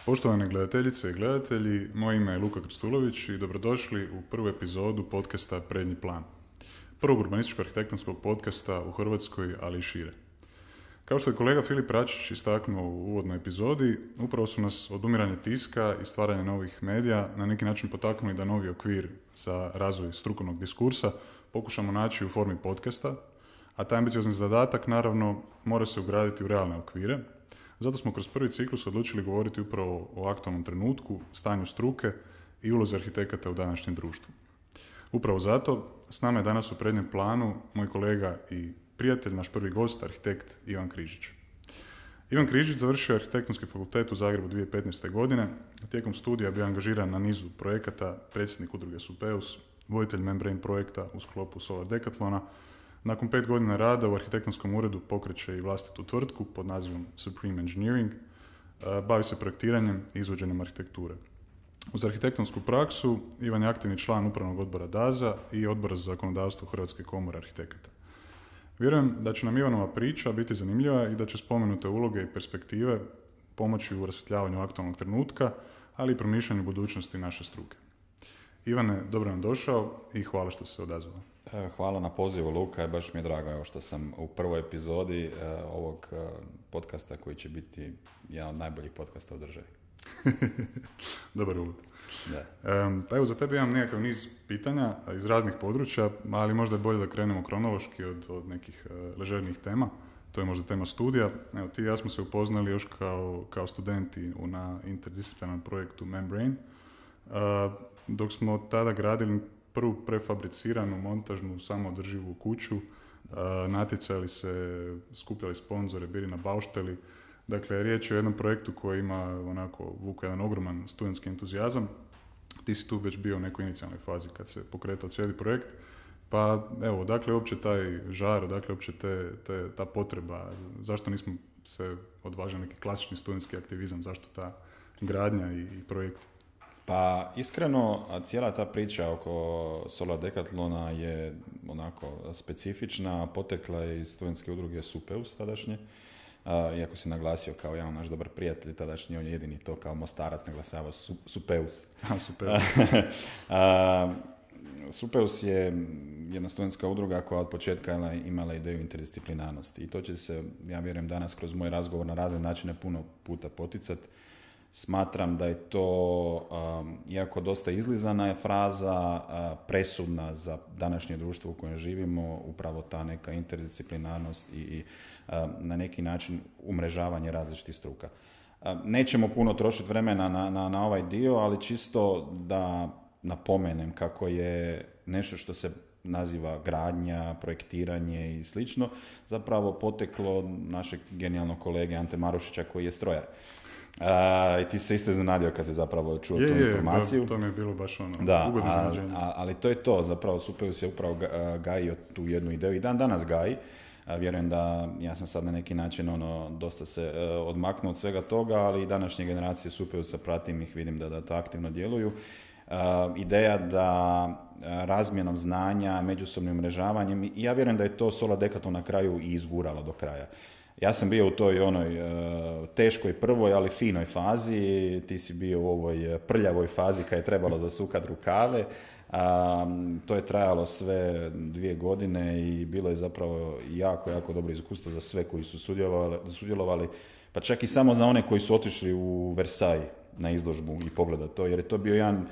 Poštovane gledateljice i gledatelji, moje ime je Luka Krstulović i dobrodošli u prvu epizodu podcasta Prednji plan. Prvog urbanističko-arhitektonskog podcasta u Hrvatskoj, ali i šire. Kao što je kolega Filip Račić istaknuo u uvodnoj epizodi, upravo su nas odumiranje tiska i stvaranje novih medija na neki način potaknuli da novi okvir za razvoj strukovnog diskursa pokušamo naći u formi podcasta, a taj ambiciozni zadatak naravno mora se ugraditi u realne okvire. Zato smo kroz prvi ciklus odlučili govoriti upravo o aktualnom trenutku, stanju struke i ulozi arhitekata u današnjem društvu. Upravo zato s nama je danas u prednjem planu moj kolega i prijatelj, naš prvi gost, arhitekt Ivan Križić. Ivan Križić završio je arhitektonski fakultet u Zagrebu 2015. godine. Tijekom studija bio angažiran na nizu projekata, predsjednik udruge Supeus, voditelj Membrane projekta u sklopu Solar Decathlona. Nakon 5 godina rada u arhitektonskom uredu pokreće i vlastitu tvrtku pod nazivom Supreme Engineering. Bavi se projektiranjem i izvođenjem arhitekture. Uz arhitektonsku praksu Ivan je aktivni član upravnog odbora DAZA i odbora za zakonodavstvo Hrvatske komore arhitekata. Vjerujem da će nam Ivanova priča biti zanimljiva i da će spomenute uloge i perspektive pomoći u rasvjetljavanju aktualnog trenutka, ali i promišljanju budućnosti naše struke. Ivane, dobro nam došao i hvala što se odazvao. Hvala na pozivu, Luka, baš mi je drago evo, što sam u prvoj epizodi ovog podcasta koji će biti jedan od najboljih podcasta u državi. Dobar uvod. Da. Pa evo, za tebe imam nekakav niz pitanja iz raznih područja, ali možda je bolje da krenemo kronološki od nekih ležernijih tema. To je možda tema studija. Evo, ti i ja smo se upoznali još kao studenti na interdisciplinarnom projektu Membrane. Dok smo tada gradili prvu prefabriciranu montažnu samoodrživu kuću, natjecali se, skupljali sponzore, bili na baušteli. Dakle, riječ je o jednom projektu koji ima vuka jedan ogroman studentski entuzijazam. Ti si tu već bio u nekoj inicijalnoj fazi kad se pokretao cijeli projekt. Pa evo, odakle je uopće taj žar, odakle je uopće ta potreba, zašto nismo se odvažili neki klasični studentski aktivizam, zašto ta gradnja i projekt? Pa iskreno, cijela ta priča oko Solar Decathlona je onako specifična, potekla je iz studentske udruge Supeus tadašnje. Iako si naglasio kao jedan naš dobar prijatelj tadašnji, on je jedini to kao Mostarac naglasavao Supeus. Supeus. Supeus je jedna studentska udruga koja od početka imala ideju interdisciplinarnosti i to će se, ja vjerujem, danas kroz moj razgovor na razne načine puno puta poticati. Smatram da je to, iako dosta izlizana je fraza, presudna za današnje društvo u kojem živimo, upravo ta neka interdisciplinarnost i na neki način umrežavanje različitih struka. Nećemo puno trošiti vremena na ovaj dio, ali čisto da napomenem kako je nešto što se naziva gradnja, projektiranje i slično, zapravo poteklo našeg genijalnog kolege Ante Marušića koji je strojar. I ti se isto iznenadio kad se zapravo čuo tu informaciju. To mi je bilo baš ugodno iznenađenje. Ali to je to, zapravo Supeus je upravo gajio tu jednu ideju i dan danas gaji. Vjerujem da ja sam sad na neki način dosta se odmaknuo od svega toga, ali i današnje generacije Supeusa pratim ih, vidim da to aktivno djeluju. Ideja da razmjenom znanja, međusobnim umrežavanjem, i ja vjerujem da je to Solar Decathlon na kraju i izguralo do kraja. Ja sam bio u toj teškoj prvoj, ali finoj fazi, ti si bio u ovoj prljavoj fazi kad je trebalo zasukati rukave. To je trajalo sve 2 godine i bilo je zapravo jako, jako dobro iskustvo za sve koji su sudjelovali, pa čak i samo za one koji su otišli u Versailles na izložbu i pogleda to, jer je to bio jedan,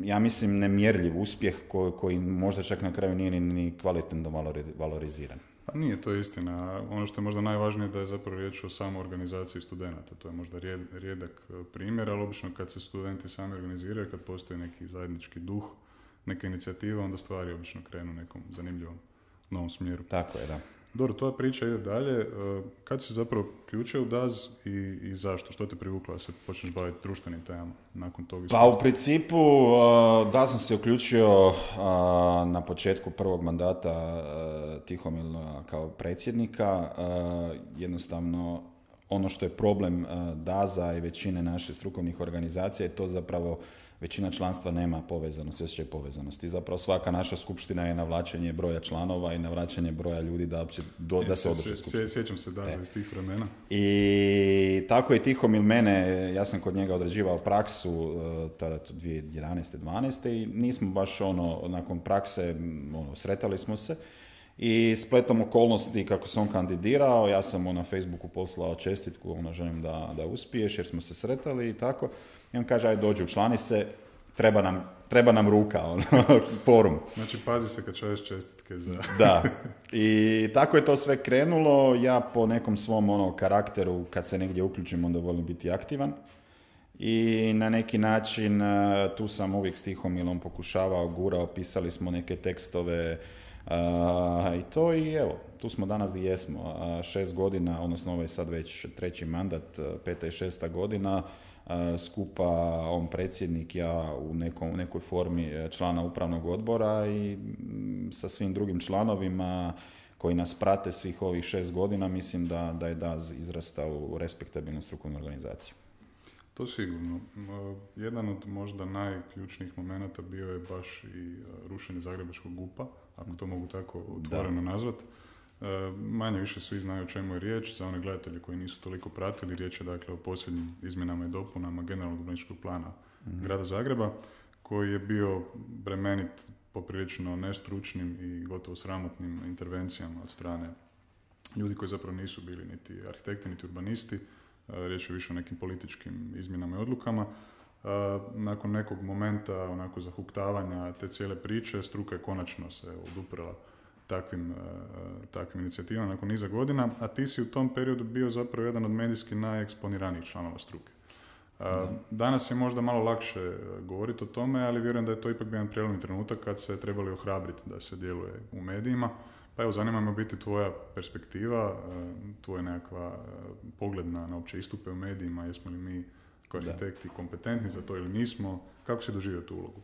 ja mislim, nemjerljiv uspjeh koji možda čak na kraju nije ni kvalitetno valoriziran. Pa nije to istina. Ono što je možda najvažnije da je zapravo riječ o samoorganizaciji studenata. To je možda rijedak primjer, ali obično kad se studenti sami organiziraju, kad postoji neki zajednički duh, neka inicijativa, onda stvari obično krenu u nekom zanimljivom novom smjeru. Tako je, da. Dobro, tvoja priča ide dalje. Kad si zapravo ključio u DAZ i zašto? Što te privuklo da se počneš baviti društvenim temama nakon toga? Pa u principu da sam se uključio na početku prvog mandata Tihomila kao predsjednika. Jednostavno ono što je problem DAZA i većine naših strukovnih organizacija je to zapravo većina članstva nema povezanosti, osjećaj povezanosti. Zapravo svaka naša skupština je navlačenje broja članova i navlačenje broja ljudi da se održi skupština. Sjećam se DAZA iz tih vremena. I tako je Tihomil mene, ja sam kod njega odrađivao praksu tada 2011. 12. i nismo baš nakon prakse sretali smo se. I spletom okolnosti kako se on kandidirao, ja sam mu na Facebooku poslao čestitku, želim da uspiješ jer smo se sretali i tako. I on kaže, ajde dođi, učlani se, treba nam ruka, forum. Znači, pazi se kad šalješ čestitke za... Da. I tako je to sve krenulo. Ja po nekom svom karakteru, kad se negdje uključim, onda volim biti aktivan. I na neki način tu sam uvijek s Tihomilom pokušavao, gurao, pisali smo neke tekstove, i to i evo, tu smo danas gdje jesmo. 6 godina, odnosno ovo je sad već 3. mandat, 5. i 6. godina, skupa on predsjednik, ja u nekoj formi člana upravnog odbora i sa svim drugim članovima koji nas prate svih ovih 6 godina, mislim da je DAZ izrastao u respektabilnu strukovnu organizaciju. To sigurno. Jedan od možda najključnijih momenata bio je baš i rušenje Zagrebačkog GUP-a, ako to mogu tako otvoreno nazvat. Manje više svi znaju o čemu je riječ. Za one gledatelje koji nisu toliko pratili, riječ je dakle o posljednjim izmjenama i dopunama generalnog urbanističkog plana grada Zagreba, koji je bio bremenit poprilično nestručnim i gotovo sramotnim intervencijama od strane ljudi koji zapravo nisu bili niti arhitekti, niti urbanisti. Riječ je više o nekim političkim izmjenama i odlukama. Nakon nekog momenta onako zahuktavanja te cijele priče, struka je konačno se oduprla takvim inicijativama nakon niza godina, a ti si u tom periodu bio zapravo jedan od medijski najeksponiranijih članova struke. Danas je možda malo lakše govoriti o tome, ali vjerujem da je to ipak bio jedan prijelomni trenutak kad se trebali ohrabriti da se djeluje u medijima. Pa evo, zanima me biti tvoja perspektiva, tvoj nekakva pogled na opće istupe u medijima, jesmo li mi kao arhitekti kompetentni za to ili nismo, kako si doživio tu ulogu?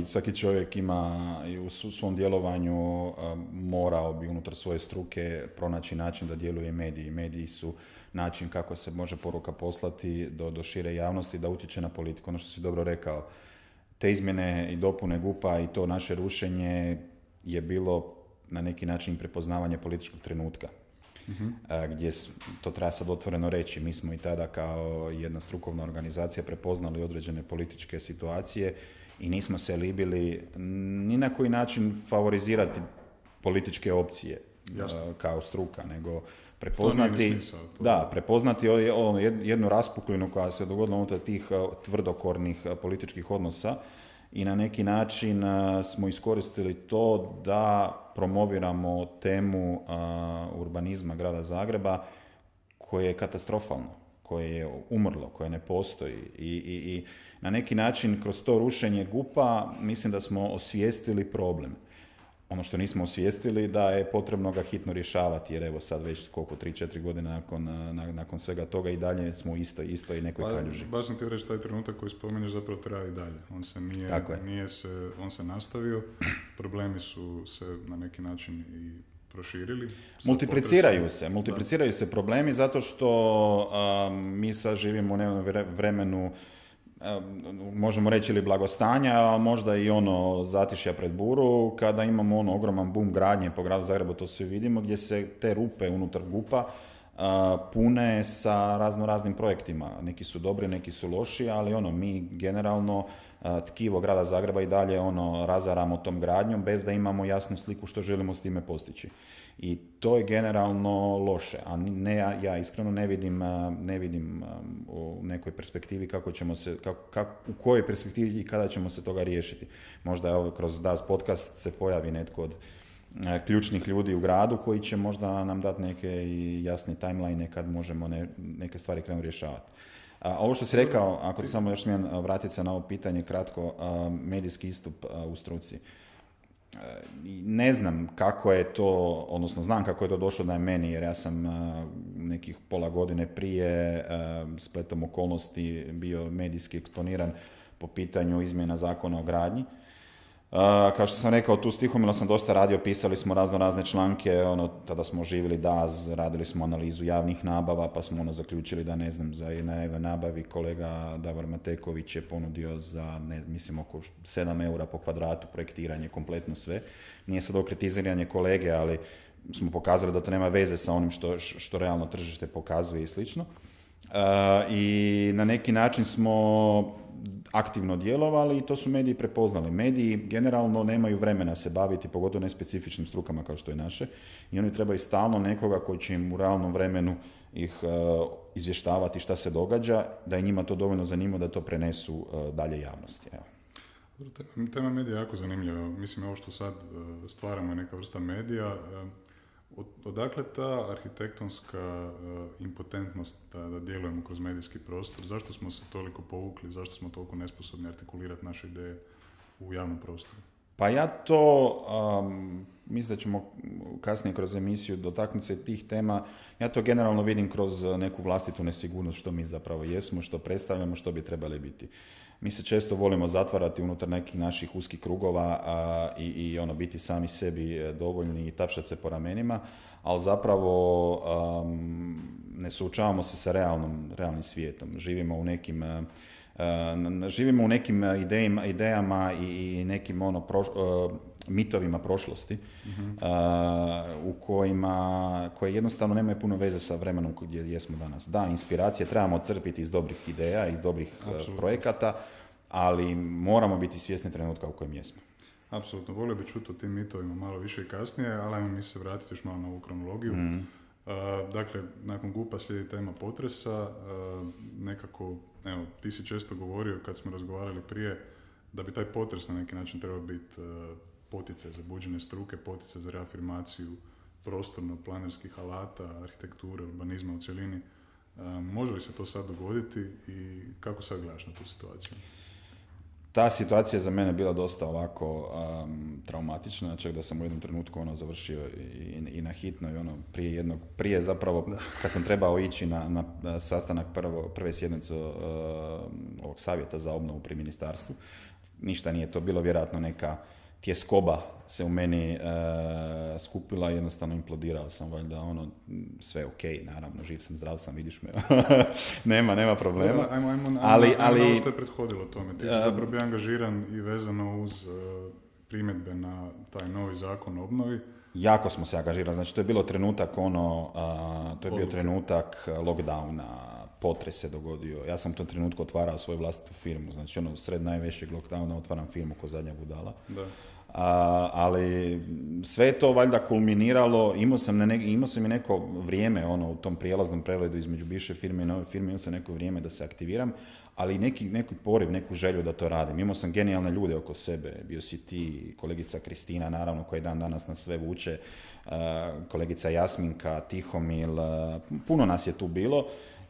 Svaki čovjek ima i u svom djelovanju morao bi unutar svoje struke pronaći način da djeluje mediji. Mediji su način kako se može poruka poslati do šire javnosti, da utječe na politiku. Ono što si dobro rekao, te izmjene i dopune GUP-a i to naše rušenje je bilo na neki način prepoznavanje političkog trenutka. Gdje to treba sad otvoreno reći, mi smo i tada kao jedna strukovna organizacija prepoznali određene političke situacije i nismo se libili ni na koji način favorizirati političke opcije kao struka, nego prepoznati jednu raspuklinu koja se dogodila unutar tih tvrdokornih političkih odnosa i na neki način smo iskoristili to da promoviramo temu urbanizma grada Zagreba koje je katastrofalno, koje je umrlo, koje ne postoji i na neki način kroz to rušenje GUP-a mislim da smo osvijestili problem. Ono što nismo osvijestili da je potrebno ga hitno rješavati, jer evo sad već 3-4 godine nakon svega toga i dalje smo isto i nekoj kaljuži. Baš sam ti reći, taj trenutak koji spomenješ zapravo traje i dalje. On se on se nastavio, problemi su se na neki način i proširili. Multipliciraju se problemi zato što mi sad živimo u vremenu možemo reći ili blagostanja, a možda i zatišja pred buru, kada imamo ogroman boom gradnje po gradu Zagrebu, to svi vidimo, gdje se te rupe unutar GUP-a pune sa raznim projektima. Neki su dobri, neki su loši, ali mi generalno tkivo grada Zagreba i dalje razaramo tom gradnjom bez da imamo jasnu sliku što želimo s time postići. I to je generalno loše, a ja iskreno ne vidim u nekoj perspektivi kako ćemo se, u kojoj perspektivi i kada ćemo se toga riješiti. Možda kroz DAZ podcast se pojavi netko od ključnih ljudi u gradu koji će možda nam dati neke i jasne timeline kad možemo neke stvari krenuti rješavati. Ovo što si rekao, ako ti samo još smijem vratiti se na ovo pitanje kratko, medijski istup u struci. Ne znam kako je to, odnosno znam kako je to došlo da je meni, jer ja sam nekih pola godine prije spletom okolnosti bio medijski eksponiran po pitanju izmjena zakona o gradnji. Kao što sam rekao, tu s Tihomilom sam dosta radio, pisali smo razne članke, tada smo oživjeli DAZ, radili smo analizu javnih nabava, pa smo zaključili da, ne znam, za jednoj nabavi kolega Davor Mateković je ponudio za, mislim, oko 7 eura po kvadratu projektiranje, kompletno sve. Nije sad okritiziranje kolege, ali smo pokazali da to nema veze sa onim što realno tržište pokazuje i slično. I na neki način smo aktivno djelovali i to su mediji prepoznali. Mediji generalno nemaju vremena se baviti, pogotovo nespecifičnim strukama kao što je naše, i oni trebaju stalno nekoga koji će im u realnom vremenu ih izvještavati šta se događa, da je njima to dovoljno zanimljivo da to prenesu dalje javnosti. Evo. Tema medija je jako zanimljiva. Mislim, ovo što sad stvaramo je neka vrsta medija. Odakle ta arhitektonska impotentnost da djelujemo kroz medijski prostor? Zašto smo se toliko povukli? Zašto smo toliko nesposobni artikulirati naše ideje u javnom prostoru? Pa ja to, mislim da ćemo kasnije kroz emisiju dotaknuti se tih tema, ja to generalno vidim kroz neku vlastitu nesigurnost što mi zapravo jesmo, što predstavljamo, što bi trebali biti. Mi se često volimo zatvarati unutar nekih naših uskih krugova i biti sami sebi dovoljni i tapšati se po ramenima, ali zapravo ne suočavamo se sa realnim svijetom. Živimo u nekim idejama i nekim mitovima prošlosti, koje jednostavno nemaju puno veze sa vremenom gdje jesmo danas. Da, inspiracije trebamo crpiti iz dobrih ideja, iz dobrih projekata, ali moramo biti svjesni trenutka u kojem jesmo. Apsolutno, volio bi čuti o tim mitovima malo više i kasnije, ali ajmo mi se vratiti još malo na ovu kronologiju. Dakle, nakon GUP-a slijedi tema potresa. Nekako, evo, ti si često govorio kad smo razgovarali prije da bi taj potres na neki način trebao biti poticaj za buđenje struke, poticaj za reafirmaciju prostorno-planerskih alata, arhitekture, urbanizma u cjelini. Može li se to sad dogoditi i kako sad gledaš na tu situaciju? Ta situacija je za mene bila dosta ovako traumatična, čak da sam u jednom trenutku završio i na hitno i prije zapravo kad sam trebao ići na sastanak prve sjednice ovog savjeta za obnovu pri ministarstvu. Ništa nije to bilo, vjerojatno neka tjeskoba se u meni skupila i jednostavno implodirao sam, valjda sve ok, naravno, živ sam, zdrav sam, vidiš me, nema problema. Ajmo ovo što je prethodilo tome. Ti si zapravo bio angažiran i vezano uz primjedbe na taj novi zakon o obnovi. Jako smo se angažirali, znači to je bilo trenutak bio trenutak lockdowna, potres se dogodio. Ja sam u tom trenutku otvarao svoju vlastitu firmu, znači sred najvećeg lockdowna otvaram firmu ko zadnja budala. Da. Ali sve je to valjda kulminiralo, imao sam i neko vrijeme u tom prijelaznom pregledu između bivše firme i nove firme, imao sam neko vrijeme da se aktiviram, ali neki poriv, neku želju da to radim. Imao sam genijalne ljude oko sebe, bio si ti, kolegica Kristina, naravno, koja dan danas nas sve vuče, kolegica Jasminka, Tihomil, puno nas je tu bilo.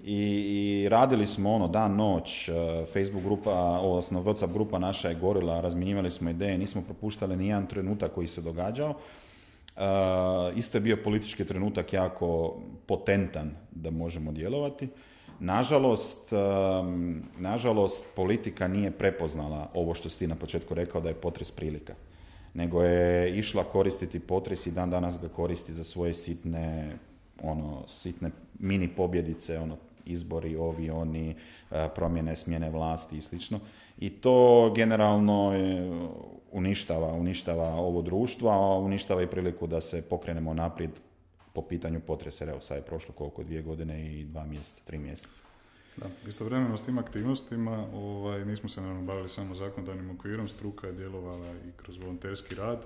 I radili smo dan, noć, Facebook grupa, odnosno WhatsApp grupa naša je gorila, razmjenjivali smo ideje, nismo propuštali ni jedan trenutak koji se događao. Isto je bio politički trenutak jako potentan da možemo djelovati. Nažalost, politika nije prepoznala ovo što si ti na početku rekao da je potres prilika, nego je išla koristiti potres i dan danas ga koristi za svoje sitne mini pobjedice, izbori, oni, promjene, smjene vlasti i slično. I to generalno uništava ovo društvo, a uništava i priliku da se pokrenemo naprijed po pitanju potresa. Evo, sad je prošlo 2 godine i 2 mjeseca, 3 mjeseca. Da, istovremeno s tim aktivnostima nismo se naravno bavili samo zakonodavnim okvirom, struka je djelovala i kroz volonterski rad.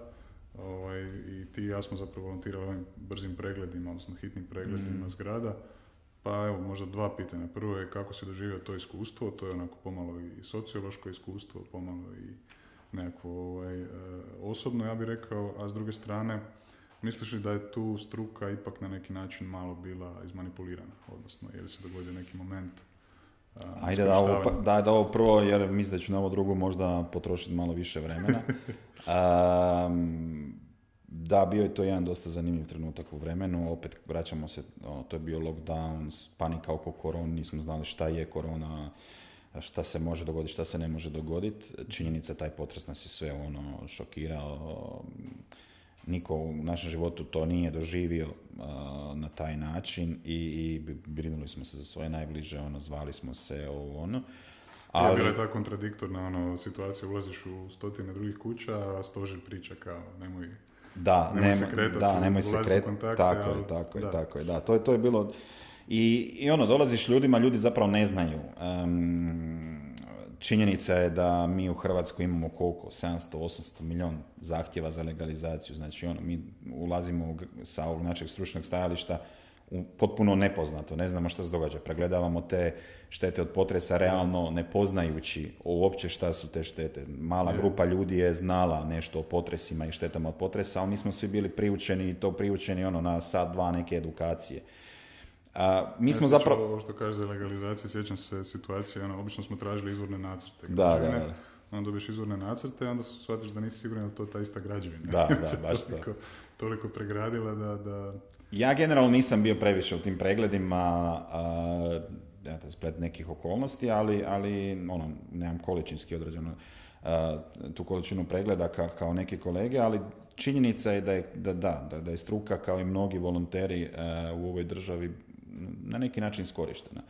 I ti i ja smo zapravo volontirali ovim brzim pregledima, odnosno hitnim pregledima zgrada. Pa evo, možda 2 pitanja. Prvo je kako si doživio to iskustvo, to je onako pomalo i sociološko iskustvo, pomalo i nekako osobno, ja bih rekao, a s druge strane, misliš li da je tu struka ipak na neki način malo bila izmanipulirana, odnosno je li se dogodio neki moment? Ajde da ovo prvo, jer mislim da ću na ovo drugo možda potrošiti malo više vremena. Da, bio je to jedan dosta zanimljiv trenutak u vremenu, opet vraćamo se, to je bio lockdown, panika oko korona, nismo znali šta je korona, šta se može dogoditi, šta se ne može dogoditi. Činjenica, taj potres nas je sve šokirao. Niko u našem životu to nije doživio na taj način i brinuli smo se za svoje najbliže, zvali smo se Ali... bila je ta kontradiktorna situacija, ulaziš u stotine drugih kuća, a stožer priča kao nemoj se kretati, nemoj se kretati, tako je, da, to je bilo i dolaziš ljudima, ljudi zapravo ne znaju. Činjenica je da mi u Hrvatskoj imamo koliko? 700-800 milijun zahtjeva za legalizaciju. Znači, mi ulazimo sa ovog našeg stručnog stajališta potpuno nepoznato. Ne znamo što se događa. Pregledavamo te štete od potresa realno ne poznajući uopće šta su te štete. Mala grupa ljudi je znala nešto o potresima i štetama od potresa, ali mi smo svi bili priučeni na sat, dva neke edukacije. Mi smo zapravo... Ovo što kaže za legalizaciju, sjećam se situacije, obično smo tražili izvorne nacrte. Da. Onda dobiješ izvorne nacrte, onda shvatiš da nisi siguran da to ta ista građevina. Da, baš toliko pregradila da... Ja generalno nisam bio previše u tim pregledima, splet nekih okolnosti, ali nemam količinski određeno tu količinu pregleda kao neki kolege, ali činjenica je da je struka kao i mnogi volonteri u ovoj državi na neki način iskorištena.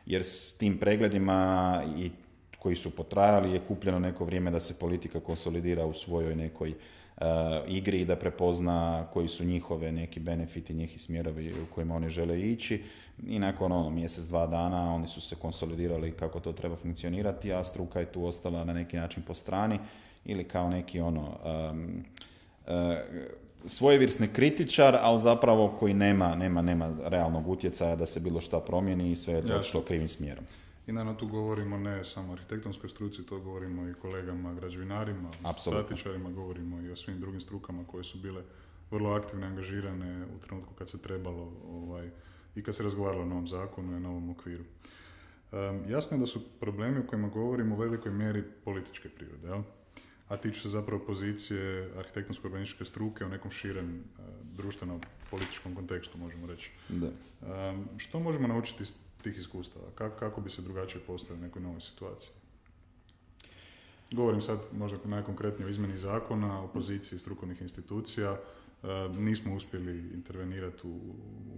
Jer s tim pregledima i koji su potrajali je kupljeno neko vrijeme da se politika konsolidira u svojoj nekoj igri i da prepozna koji su njihove neki benefiti, njih smjerovi u kojima oni žele ići i nakon mjesec, 2 dana oni su se konsolidirali kako to treba funkcionirati, a struka je tu ostala na neki način po strani ili kao neki svojevrsni kritičar, ali zapravo koji nema realnog utjecaja da se bilo šta promijeni i sve je to otišlo krivim smjerom. I naravno tu govorimo ne samo o arhitektonskoj struci, to govorimo i kolegama građevinarima, statičarima, govorimo i o svim drugim strukama koje su bile vrlo aktivne, angažirane u trenutku kad se trebalo i kad se razgovaralo o novom zakonu i novom okviru. Jasno je da su problemi o kojima govorimo u velikoj mjeri političke prirode, jel? A tiču se zapravo pozicije arhitektonsko-urbanističke struke u nekom širem društveno-političkom kontekstu, možemo reći. Da. Što možemo naučiti iz tih iskustava? Kako bi se drugačije postavili u nekoj novoj situaciji? Govorim sad možda najkonkretnije o izmjeni zakona, o poziciji strukovnih institucija. Nismo uspjeli intervenirati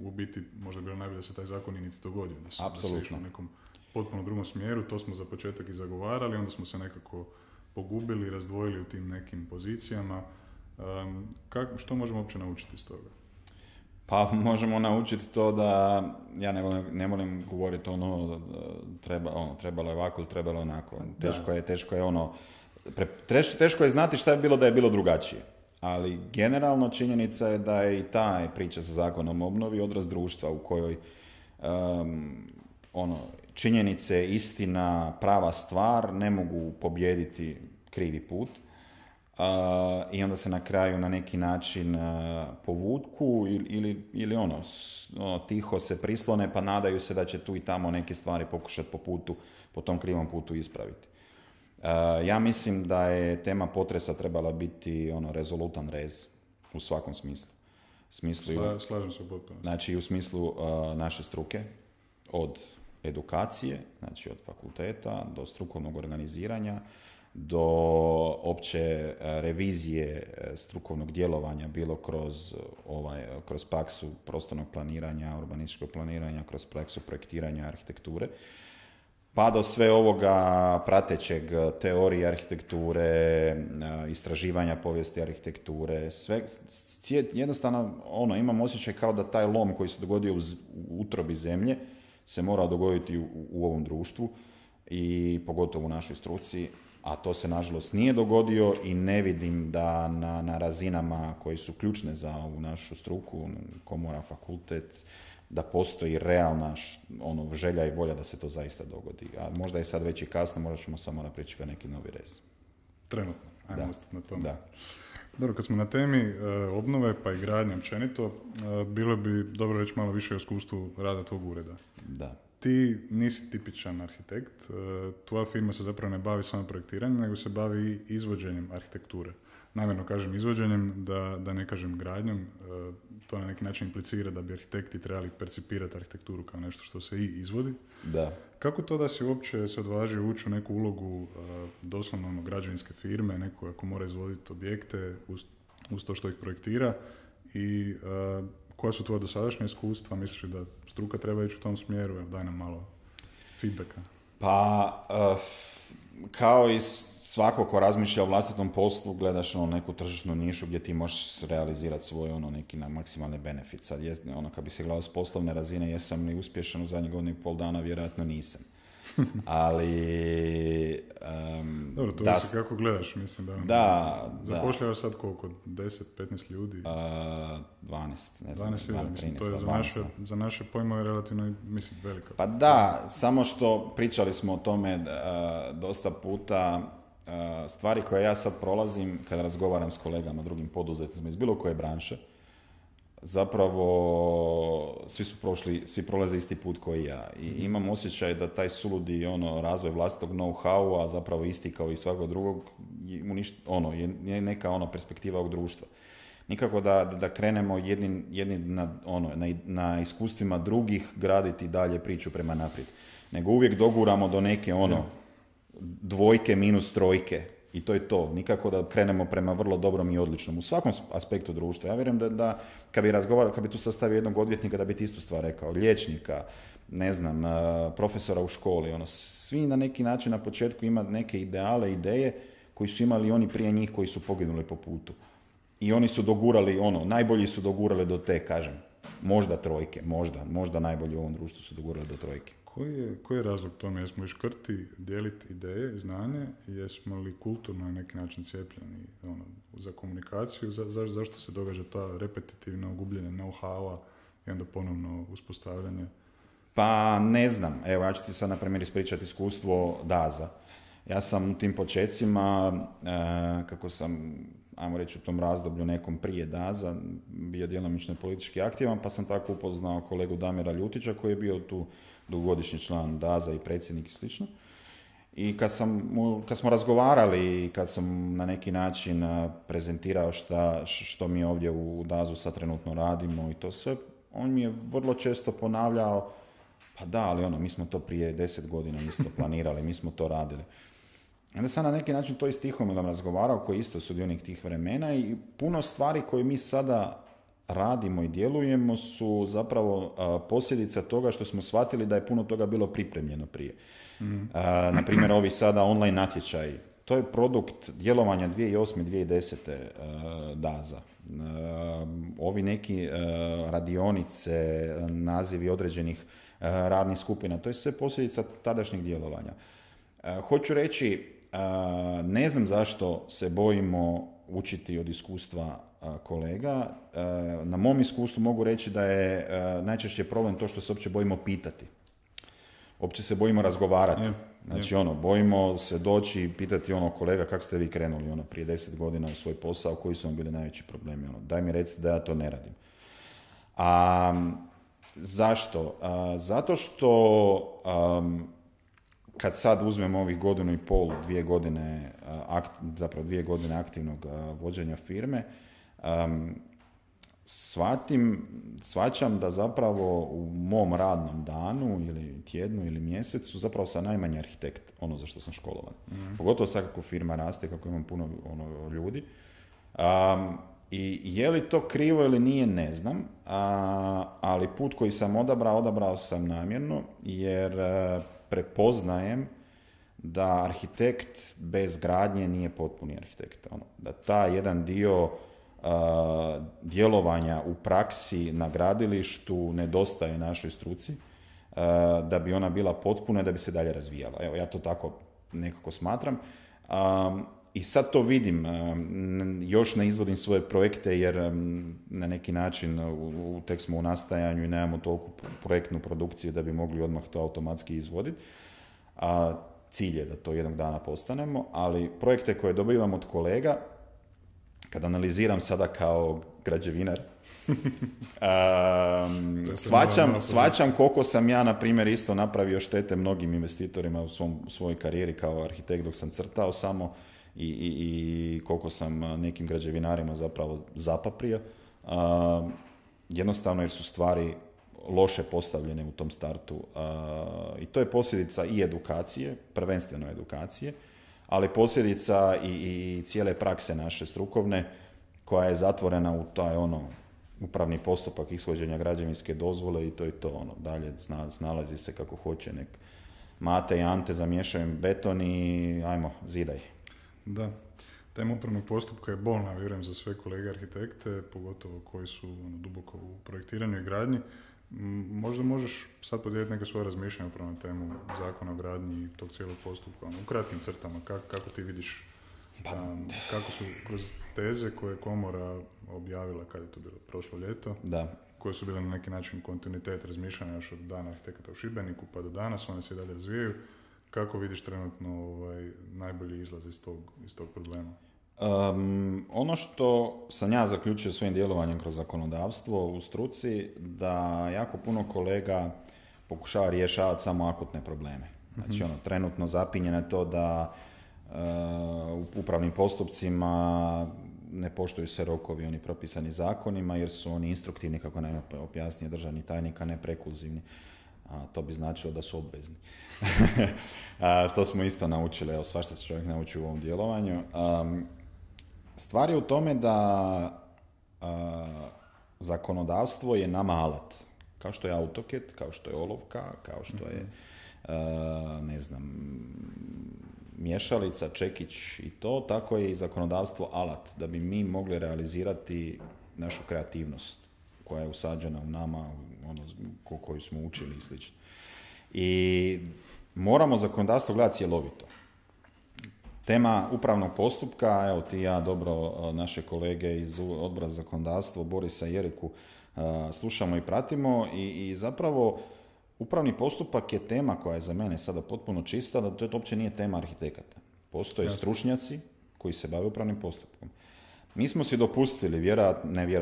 u biti, možda bi bilo najbolje da se taj zakon i niti dogodio. Da se išlo u nekom potpuno drugom smjeru, to smo za početak i zagovarali, onda smo se nekako pogubili, razdvojili u tim nekim pozicijama. Što možemo uopće naučiti iz toga? Pa možemo naučiti to da, ja ne volim govoriti trebalo je ovako ili trebalo je onako. Teško je znati šta je bilo da je bilo drugačije. Ali generalno činjenica je da je i ta priča sa zakonom o obnovi odraz društva u kojoj činjenice, istina, prava stvar ne mogu pobijediti krivi put. I onda se na kraju na neki način povuku ili tiho se prislone pa nadaju se da će tu i tamo neke stvari pokušati po tom krivom putu ispraviti. Ja mislim da je tema potresa trebala biti rezolutan rez u svakom smislu. Slažem se u potpunosti. Znači u smislu naše struke, od edukacije, znači od fakulteta do strukovnog organiziranja, do opće revizije strukovnog djelovanja, bilo kroz praksu prostornog planiranja, urbanističkog planiranja, kroz praksu projektiranja arhitekture, pa do sve ovoga pratećeg teorije arhitekture, istraživanja povijesti arhitekture, sve, jednostavno imam osjećaj kao da taj lom koji se dogodio u utrobi zemlje se mora dogoditi u ovom društvu i pogotovo u našoj struci, a to se nažalost nije dogodio i ne vidim da na razinama koji su ključne za ovu našu struku, komora, fakultet, da postoji realna želja i volja da se to zaista dogodi. A možda je sad već i kasno, možda ćemo samo napričati neki novi rez. Trenutno, ajmo ostati na tome. Da. Dobro, kad smo na temi obnove pa i gradnje općenito, bilo bi dobro reći malo više o iskustvu rada tvog ureda. Da. Ti nisi tipičan arhitekt, tvoja firma se zapravo ne bavi samo projektiranjem, nego se bavi izvođenjem arhitekture. namjerno kažem izvođenjem, da ne kažem gradnjom, to na neki način implicira da bi arhitekti trebali percipirati arhitekturu kao nešto što se i izvodi. Da. Kako to da si uopće se odvažio ući u neku ulogu doslovno građevinske firme, neko ako mora izvoditi objekte uz to što ih projektira i koja su tvoja dosadašnja iskustva? Misliš da struka treba ići u tom smjeru? Evo, daj nam malo feedbacka. Pa, kao i svako ko razmišlja o vlastitom poslu, gledaš neku tržišnu nišu gdje ti možeš realizirati svoj neki na maksimalni benefit. Sad, kad bi se gledao s poslovne razine, jesam li uspješan u zadnjih godinu i pol dana, vjerojatno nisam. Ali... Dobro, to se kako gledaš, mislim da... Zapošljavaš sad koliko? 10-15 ljudi? 12, ne znam. 12 ljudi, mislim, to je za naše pojmove relativno, mislim, velika. Pa da, samo što pričali smo o tome dosta puta, stvari koje ja sad prolazim kada razgovaram s kolegama, drugim poduzetnicima iz bilo koje branše, zapravo svi prolaze isti put koji ja. I imam osjećaj da taj suludi razvoj vlastitog know-howa, zapravo isti kao i svakog drugog, je neka perspektiva ovog društva. Nikako da krenemo jedni na iskustvima drugih graditi dalje priču prema naprijed. Nego uvijek doguramo do neke dvojke minus trojke. I to je to. Nikako da krenemo prema vrlo dobrom i odličnom. U svakom aspektu društva. Ja vjerujem da kad bi tu sastavio jednog odvjetnika, da bi ti istu stvar rekao. Liječnika, ne znam, profesora u školi. Svi na neki način na početku ima neke ideale, ideje koji su imali oni prije njih koji su poginuli po putu. I oni su dogurali, najbolji su dogurali do te, kažem, možda trojke, možda najbolji u ovom društvu su dogurali do trojke. Koji je razlog tome? Jesmo li škrti dijeliti ideje, znanje? Jesmo li kulturno na neki način cijepljeni za komunikaciju? Zašto se događa ta repetitivno gubljenje know-howa i onda ponovno uspostavljanje? Pa ne znam. Evo, ja ću ti sad na primjer ispričati iskustvo DAZ-a. Ja sam u tim počecima, kako sam, ajmo reći, u tom razdoblju nekom prije DAZ-a, bio djelomično politički aktivan, pa sam tako upoznao kolegu Damira Ljutića koji je bio tu dugogodišnji član DAZ-a i predsjednik i slično. I kad smo razgovarali i kad sam na neki način prezentirao što mi ovdje u DAZ-u sad trenutno radimo i to sve, on mi je vrlo često ponavljao, pa da, ali mi smo to prije 10 godina isto planirali, mi smo to radili. Onda sam na neki način to i s Tihomilom razgovarao, koji je isto sudionik tih vremena, i puno stvari koje mi sada radimo i djelujemo su zapravo posljedica toga što smo shvatili da je puno toga bilo pripremljeno prije. Na primjer, ovi sada online natječaji, to je produkt djelovanja 2008-2010 DAZ-a. Ovi neki radionice, nazivi određenih radnih skupina, to je sve posljedica tadašnjeg djelovanja. Hoću reći, ne znam zašto se bojimo učiti od iskustva kolega. Na mom iskustvu mogu reći da je najčešće problem to što se uopće bojimo pitati. Uopće se bojimo razgovarati. Znači, bojimo se doći i pitati kolega, kako ste vi krenuli prije 10 godina u svoj posao, koji su vam bili najveći problemi. Daj mi recite da ja to ne radim. Zašto? Zato što kad sad uzmemo ovih 1,5-2 godine, zapravo 2 godine aktivnog vođenja firme, shvaćam da zapravo u mom radnom danu ili tjednu ili mjesecu zapravo sam najmanji arhitekt, za što sam školovan. Pogotovo sad kako firma raste, kako imam puno ljudi. I je li to krivo ili nije, ne znam, ali put koji sam odabrao sam namjerno, jer prepoznajem da arhitekt bez gradnje nije potpuni arhitekt. Da taj jedan dio djelovanja u praksi na gradilištu nedostaje našoj struci, da bi ona bila potpuna i da bi se dalje razvijala. Evo, ja to tako nekako smatram. I sad to vidim, još ne izvodim svoje projekte jer na neki način tek smo u nastajanju i nemamo toliko projektnu produkciju da bi mogli odmah to automatski izvoditi. Cilj je da to jednog dana postanemo, ali projekte koje dobivam od kolega, kad analiziram sada kao građevinar, shvaćam koliko sam ja, na primjer, isto napravio štete mnogim investitorima u svojoj karijeri kao arhitekt dok sam crtao samo, i koliko sam nekim građevinarima zapravo zapaprio. Jednostavno jer su stvari loše postavljene u tom startu. I to je posljedica i edukacije, prvenstveno edukacije, ali posljedica i cijele prakse naše strukovne koja je zatvorena u taj upravni postupak ishođenja građevinske dozvole i to je to. Dalje snalazi se kako hoće, nek Mate i Ante zamiješaju beton i ajmo, zidaj. Da, tema upravnog postupka je bolna, vjerujem, za sve kolege arhitekte, pogotovo koji su duboko u projektiranju i gradnji. Možda možeš sad podijeliti neke svoje razmišljanja upravo na temu zakona o gradnji i tog cijelog postupka, u kratkim crtama, kako ti vidiš, kako su kroz teze koje je komora objavila, kad je to bilo, prošlo ljeto, da, koje su bile na neki način kontinuitet razmišljanja još od dana arhitekata u Šibeniku pa do danas, one se i dalje razvijaju. Kako vidiš trenutno najbolji izlaz iz tog problema? Ono što sam ja zaključio svojim djelovanjem kroz zakonodavstvo u struci, da jako puno kolega pokušava rješavati samo akutne probleme. Znači, trenutno zapinje na to da u upravnim postupcima ne poštuju se rokovi, oni propisani zakonima, jer su oni instruktivni, kako nam objasnije državni tajnik, a ne prekluzivni. To bi značilo da su obvezni. To smo isto naučili, evo, svašta se čovjek nauči u ovom djelovanju. Stvar je u tome da zakonodavstvo je nama alat. Kao što je AutoCAD, kao što je olovka, kao što je, mješalica, čekić i to, tako je i zakonodavstvo alat, da bi mi mogli realizirati našu kreativnost koja je usađena u nama, koju smo učili i slično. I moramo zakonodavstvo gledati cjelovito. Tema upravnog postupka, evo ti ja dobro naše kolege iz odbora za zakonodavstvo, Borisa i Jeriku, slušamo i pratimo i zapravo upravni postupak je tema koja je za mene sada potpuno čista, da to uopće nije tema arhitekata. Postoje stručnjaci koji se bave upravnim postupkom. Mi smo si dopustili,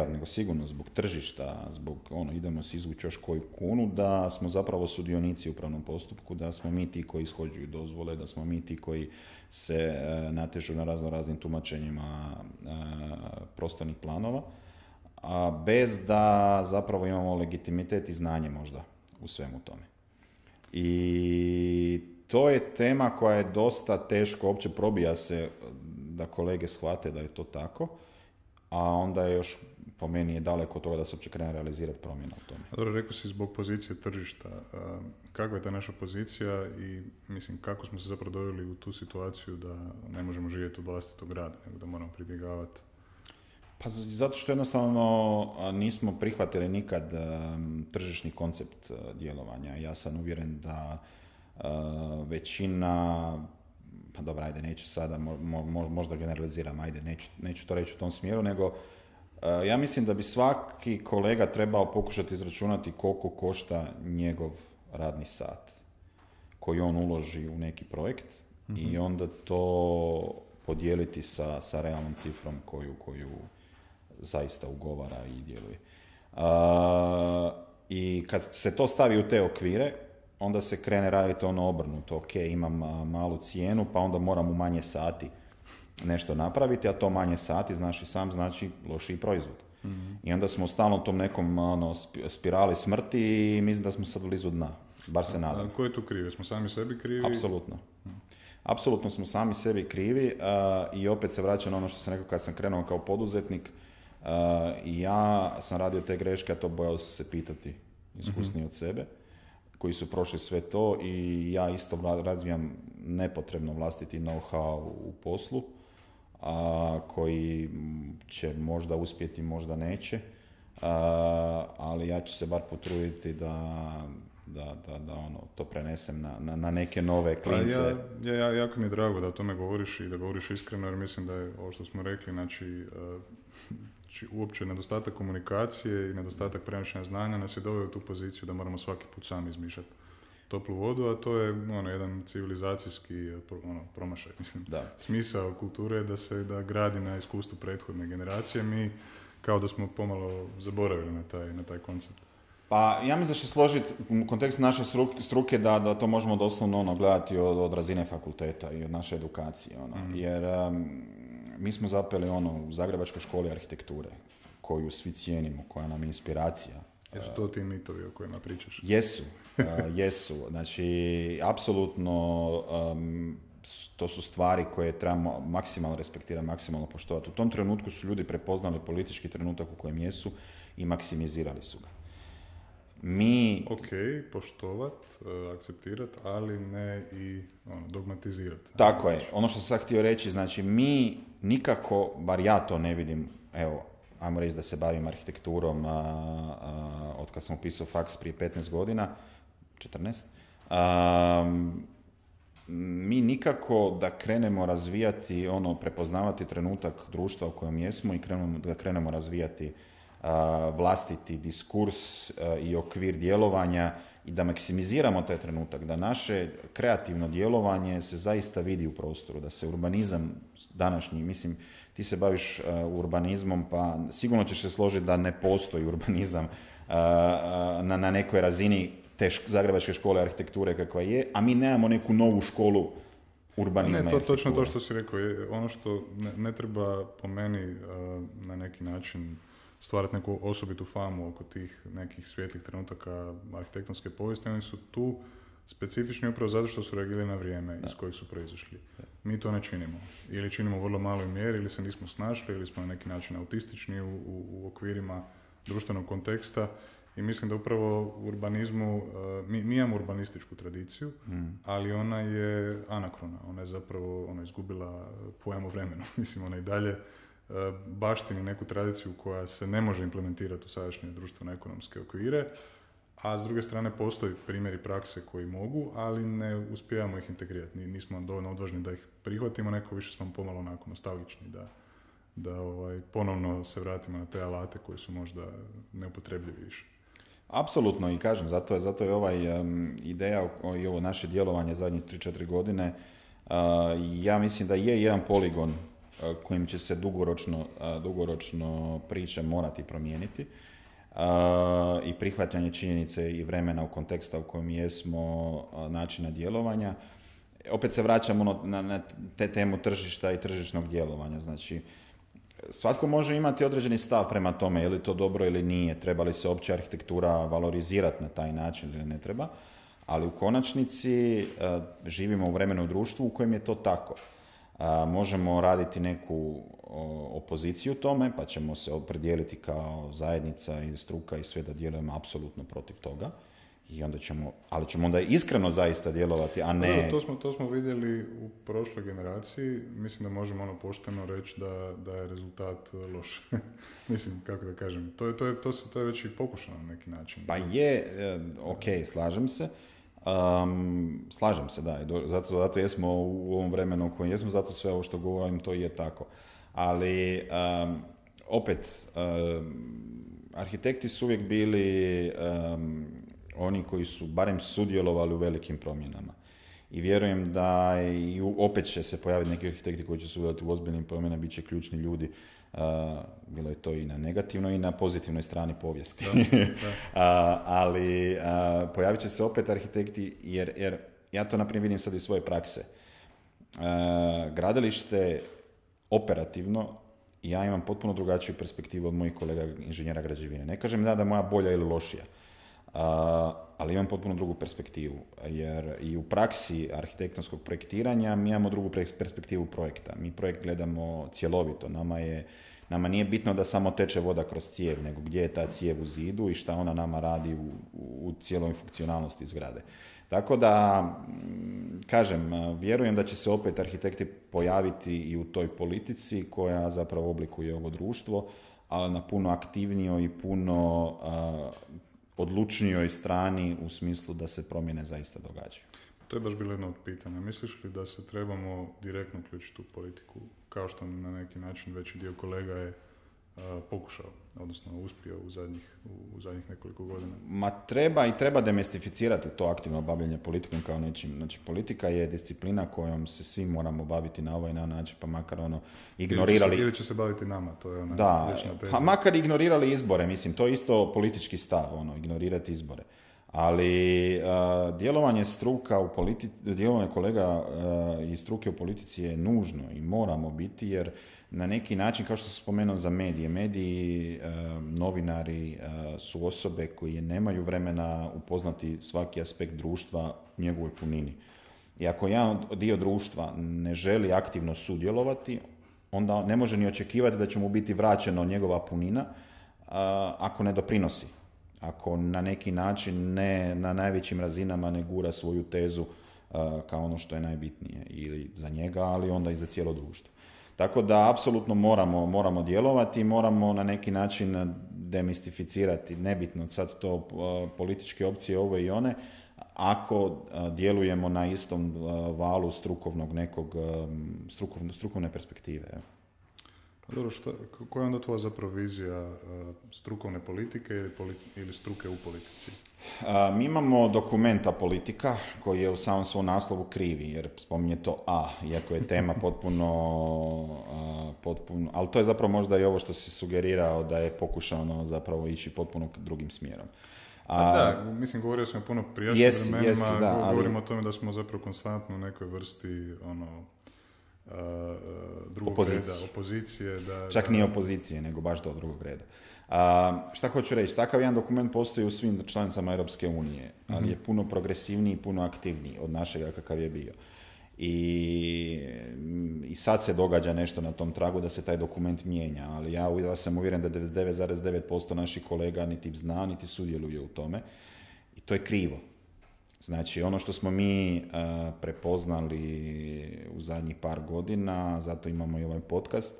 nego sigurno zbog tržišta, zbog idemo si izvući još koju kunu, da smo zapravo sudionici u upravnom postupku, da smo mi ti koji ishođuju dozvole, da smo mi ti koji se natežu na raznim tumačenjima prostornih planova, a bez da zapravo imamo legitimitet i znanje možda u svemu tome. I to je tema koja je dosta teško, uopće probija se da kolege shvate da je to tako, a onda je još, po meni je daleko od toga da se uopće krene realizirati promjena u tome. Dobro, rekao si zbog pozicije tržišta. Kakva je ta naša pozicija i kako smo se zapravo doveli u tu situaciju da ne možemo živjeti od vlastitog rada, nego da moramo pribjegavati? Pa zato što jednostavno nismo prihvatili nikad tržišni koncept djelovanja. Ja sam uvjeren da većina, pa dobro, ajde, neću sada, možda generaliziram, ajde, neću to reći u tom smjeru, nego ja mislim da bi svaki kolega trebao pokušati izračunati koliko košta njegov radni sat koji on uloži u neki projekt i onda to podijeliti sa realnom cifrom koju zaista ugovara i djeluje. I kad se to stavi u te okvire, onda se krene raditi obrnuto. Ok, imam malu cijenu, pa onda moram u manje sati nešto napraviti, a to manje sati, znaš i sam, znači lošiji proizvod. I onda smo u stalnom tom nekom spirali smrti i mislim da smo sad blizu dna. Bar se nadam. A ko je tu krivi? Smo sami sebi krivi? Apsolutno. Apsolutno smo sami sebi krivi i opet se vraćam na ono što sam rekao kad sam krenuo kao poduzetnik. I ja sam radio te greške, a to bojao sam se pitati iskusniji od sebe, koji su prošli sve to i ja isto razvijam nepotrebno vlastiti know-how u poslu, koji će možda uspjeti, možda neće, ali ja ću se bar potruditi da to prenesem na neke nove klince. Jako mi je drago da o tome govoriš i da govoriš iskreno, jer mislim da je ovo što smo rekli, znači uopće nedostatak komunikacije i nedostatak prenošenja znanja nas je doveo u tu poziciju da moramo svaki put sami izmišljati toplu vodu, a to je jedan civilizacijski promašaj. Mislim, smisao kulture je da gradi na iskustvu prethodne generacije. Mi kao da smo pomalo zaboravili na taj koncept. Pa ja mislim da će složiti u kontekstu naše struke da to možemo doslovno gledati od razine fakulteta i od naše edukacije. Jer mi smo zapeli u Zagrebačkoj školi arhitekture, koju svi cijenimo, koja nam je inspiracija. Jesu to ti mitovi o kojima pričaš? Jesu. Znači, apsolutno to su stvari koje trebamo maksimalno respektirati, maksimalno poštovati. U tom trenutku su ljudi prepoznali politički trenutak u kojem jesu i maksimizirali su ga. Poštovat, akceptirat, ali ne i dogmatizirati. Tako je. Ono što sam htio reći, znači mi nikako, bar ja to ne vidim, evo, ajmo reći da se bavim arhitekturom od kad sam upisao faks prije 15 godina, 14, mi nikako da krenemo razvijati, prepoznavati trenutak društva u kojem jesmo i da krenemo razvijati vlastiti diskurs i okvir djelovanja i da maksimiziramo taj trenutak, da naše kreativno djelovanje se zaista vidi u prostoru, da se urbanizam današnji, mislim, ti se baviš urbanizmom, pa sigurno ćeš se složiti da ne postoji urbanizam na nekoj razini te Zagrebačke škole arhitekture kakva je, a mi nemamo neku novu školu urbanizma. Ne, točno to što si rekao. Ono što ne treba po meni na neki način stvarati neku osobitu famu oko tih nekih svijetlih trenutaka arhitektonske povijesti. Oni su tu specifični upravo zato što su reagirali na vrijeme iz kojeg su proizašli. Mi to ne činimo. Ili činimo u vrlo maloj mjeri, ili se nismo snašli, ili smo na neki način autistični u okvirima društvenog konteksta. I mislim da upravo u urbanizmu, mi imamo urbanističku tradiciju, ali ona je anakrona. Ona je zapravo izgubila pojam o vremenu. Mislim, ona i dalje baštini neku tradiciju koja se ne može implementirati u sadašnje društveno-ekonomske okvire, a s druge strane postoji primjeri prakse koji mogu, ali ne uspijevamo ih integrirati. Nismo dovoljno odvažni da ih prihvatimo, neko više smo pomalo onako nostalgični da ponovno se vratimo na te alate koji su možda neupotrebljivi više. Apsolutno, i kažem, zato je ideja i ovo naše djelovanje zadnjih 3-4 godine, ja mislim da je jedan poligon kojim će se dugoročno priče morati promijeniti i prihvatanje činjenice i vremena u konteksta u kojem jesmo, načina djelovanja. Opet se vraćamo na te temu tržišta i tržišnog djelovanja. Znači, svatko može imati određeni stav prema tome je li to dobro ili nije, treba li se opća arhitektura valorizirati na taj način ili ne treba, ali u konačnici živimo u vremenu društvu u kojem je to tako. Možemo raditi neku opoziciju tome, pa ćemo se opredijeliti kao zajednica i struka i sve da djelujemo apsolutno protiv toga. Ali ćemo onda iskreno zaista djelovati, a ne... To smo vidjeli u prošloj generaciji. Mislim da možemo pošteno reći da je rezultat loš. Mislim, kako da kažem, to je već i pokušano na neki način. Pa je, slažem se. Slažem se, da. Zato jesmo u ovom vremenu u kojem jesmo, zato sve ovo što govorim, to je tako. Ali, opet, arhitekti su uvijek bili... oni koji su barem sudjelovali u velikim promjenama. I vjerujem da opet će se pojaviti neki arhitekti koji će sudjelovati u ozbiljnim promjenama, bit će ključni ljudi. Bilo je to i na negativnoj i na pozitivnoj strani povijesti. Ali pojavit će se opet arhitekti, jer ja to naprimjer vidim sad iz svoje prakse. Gradilište operativno, ja imam potpuno drugačiju perspektivu od mojih kolega inženjera građevine. Ne kažem da je moja bolja ili lošija. Ali imam potpuno drugu perspektivu, jer i u praksi arhitektonskog projektiranja mi imamo drugu perspektivu projekta. Mi projekt gledamo cjelovito. Nama nije bitno da samo teče voda kroz cijev, nego gdje je ta cijev u zidu i šta ona nama radi u cijeloj funkcionalnosti zgrade. Tako da, kažem, vjerujem da će se opet arhitekti pojaviti i u toj politici koja zapravo oblikuje ovo društvo, ali na puno aktivnijoj i puno odlučnijoj strani u smislu da se promjene zaista događaju. To je baš bilo jedno od pitanja. Misliš li da se trebamo direktno uključiti u politiku, kao što na neki način veći dio kolega je pokušao, odnosno uspio u zadnjih nekoliko godina? Ma treba demistificirati to aktivno bavljenje politikom kao nečim. Znači, politika je disciplina kojom se svi moramo baviti na ovaj način, pa makar ignorirali... Ili će se baviti nama, to je vječna teza. Pa makar ignorirali izbore, mislim, to je isto politički stav, ignorirati izbore. Ali djelovanje kolega iz struke u politici je nužno i moramo biti, jer na neki način, kao što sam spomenuo za mediji, novinari su osobe koje nemaju vremena upoznati svaki aspekt društva u njegovoj punini. I ako jedan dio društva ne želi aktivno sudjelovati, onda ne može ni očekivati da će mu biti vraćeno njegova punina ako ne doprinosi. Ako na neki način ne na najvećim razinama ne gura svoju tezu kao ono što je najbitnije ili za njega, ali onda i za cijelo društvo. Tako da apsolutno moramo djelovati, moramo na neki način demistificirati, nebitno sad to političke opcije ove i one, ako djelujemo na istom valu strukovne perspektive. Dobro, koja je onda tvoja zapravo vizija strukovne politike ili struke u politici? Mi imamo dokumenta politika koji je u samom svom naslovu krivi, jer spominje to iako je tema potpuno, ali to je zapravo možda i ovo što si sugerirao da je pokušano zapravo ići potpuno drugim smjerom. Mislim, govorio sam o puno prijašnjim vremenima, govorimo o tome da smo zapravo konstantno u nekoj vrsti drugog reda, opozicije. Čak nije opozicije, nego baš do drugog reda. Šta hoću reći? Takav jedan dokument postoji u svim članicama Europske unije, ali je puno progresivniji i puno aktivniji od našega kakav je bio. I sad se događa nešto na tom tragu da se taj dokument mijenja, ali ja sam uvjeren da 99,9% naših kolega niti zna, niti sudjeluje u tome. I to je krivo. Znači, ono što smo mi prepoznali u zadnjih par godina, zato imamo i ovaj podcast,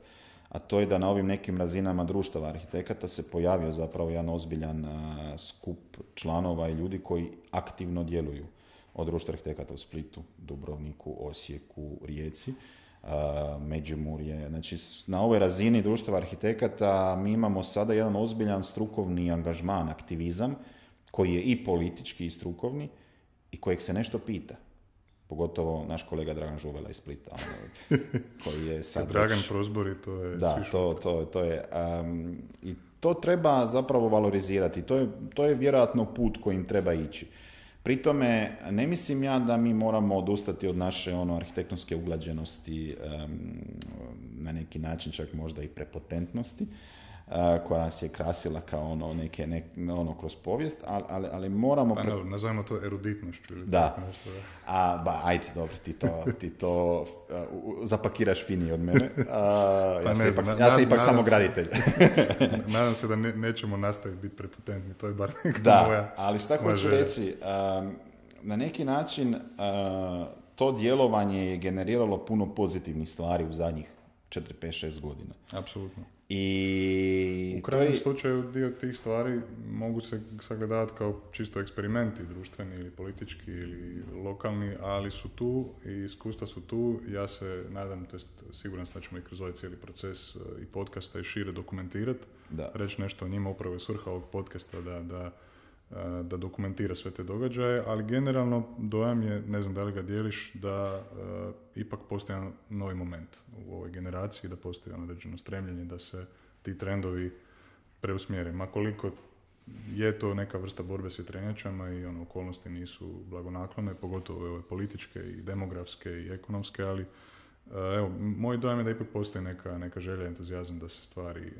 a to je da na ovim nekim razinama društava arhitekata se pojavio zapravo jedan ozbiljan skup članova i ljudi koji aktivno djeluju od društva arhitekata u Splitu, Dubrovniku, Osijeku, Rijeci, Međimurje. Znači, na ovoj razini društva arhitekata mi imamo sada jedan ozbiljan strukovni angažman, aktivizam, koji je i politički i strukovni, i kojeg se nešto pita. Pogotovo naš kolega Dragan Žuvela iz Splita. Koji je sad Dragan Prozbori, to je... Da, to je... I to treba zapravo valorizirati. To je vjerojatno put kojim treba ići. Pri tome, ne mislim ja da mi moramo odustati od naše arhitektonske uglađenosti, na neki način čak možda i prepotentnosti, koja nas je krasila kao kroz povijest, ali moramo... Pa nazovimo to eruditnošću. Da. Ajde, dobro, ti to zapakiraš finije od mene. Ja sam ipak samo graditelj. Nadam se da nećemo nastaviti biti prepotentni, to je bar neka moja... Ali šta hoću reći, na neki način to djelovanje je generiralo puno pozitivnih stvari u zadnjih 4, 5, 6 godina. Apsolutno. U krajnjem slučaju dio tih stvari mogu se sagledavati kao čisto eksperimenti društveni ili politički ili lokalni, ali su tu i iskustva su tu. Ja se nadam, to jest siguran sam da ćemo i kroz ovaj cijeli proces i podcasta i šire dokumentirati, reći nešto o njima. Upravo je svrha ovog podcasta da dokumentira sve te događaje, ali generalno dojam je, ne znam da li ga dijeliš, da ipak postoji jedan novi moment u ovoj generaciji, da postoji određeno stremljenje da se ti trendovi preusmjere. Ma koliko je to neka vrsta borbe s vjetrenjačama i okolnosti nisu blagonaklone, pogotovo ove političke i demografske i ekonomske, ali moj dojam je da ipak postoji neka želja, entuzijazam da se stvari,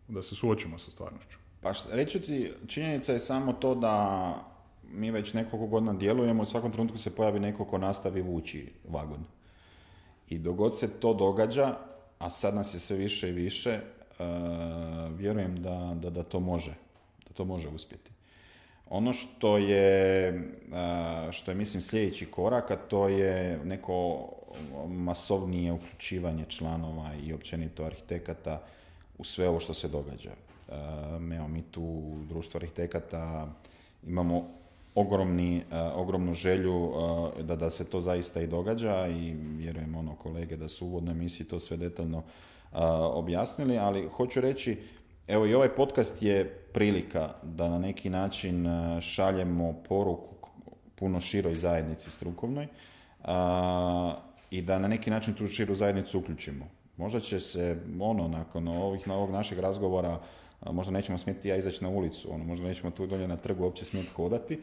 da se suočimo sa stvarnošću. Pa reći ti, činjenica je samo to da mi već nekoliko godina djelujemo, u svakom trenutku se pojavi neko ko nastavi vući vagon. I dok god se to događa, a sad nas je sve više i više, vjerujem da to može uspjeti. Ono što je mislim sljedeći korak, a to je neko masovnije uključivanje članova i općenito arhitekata u sve ovo što se događa. Mi tu u društvu arhitekata imamo ogromnu želju da se to zaista i događa i vjerujem kolege da su u uvodnoj emisiji to sve detaljno objasnili, ali hoću reći, evo i ovaj podcast je prilika da na neki način šaljemo poruku puno široj zajednici strukovnoj i da na neki način tu širu zajednicu uključimo. Možda će se, nakon ovog našeg razgovora, možda nećemo smjeti izaći na ulicu, možda nećemo tu dolje na trgu uopće smjeti hodati,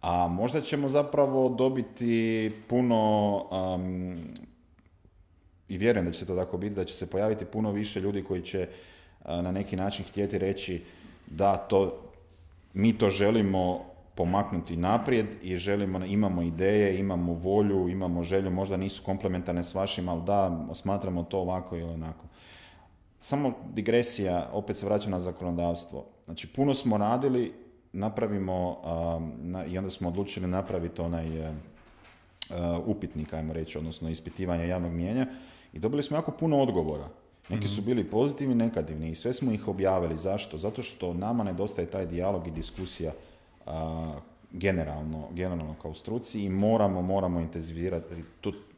a možda ćemo zapravo dobiti puno, i vjerujem da će to tako biti, da će se pojaviti puno više ljudi koji će na neki način htjeti reći da mi to želimo pomaknuti naprijed i imamo ideje, imamo volju, imamo želju, možda nisu komplementarne s vašim, ali da, smatramo to ovako ili onako. Samo digresija, opet se vraćam na zakonodavstvo. Znači, puno smo radili, napravimo, i onda smo odlučili napraviti onaj upitnik, ajmo reći, odnosno ispitivanje javnog mijenja, i dobili smo jako puno odgovora. Neki su bili pozitivni, negativni, i sve smo ih objavili. Zašto? Zato što nama nedostaje taj dijalog i diskusija generalno kao struci, i moramo intenzivirati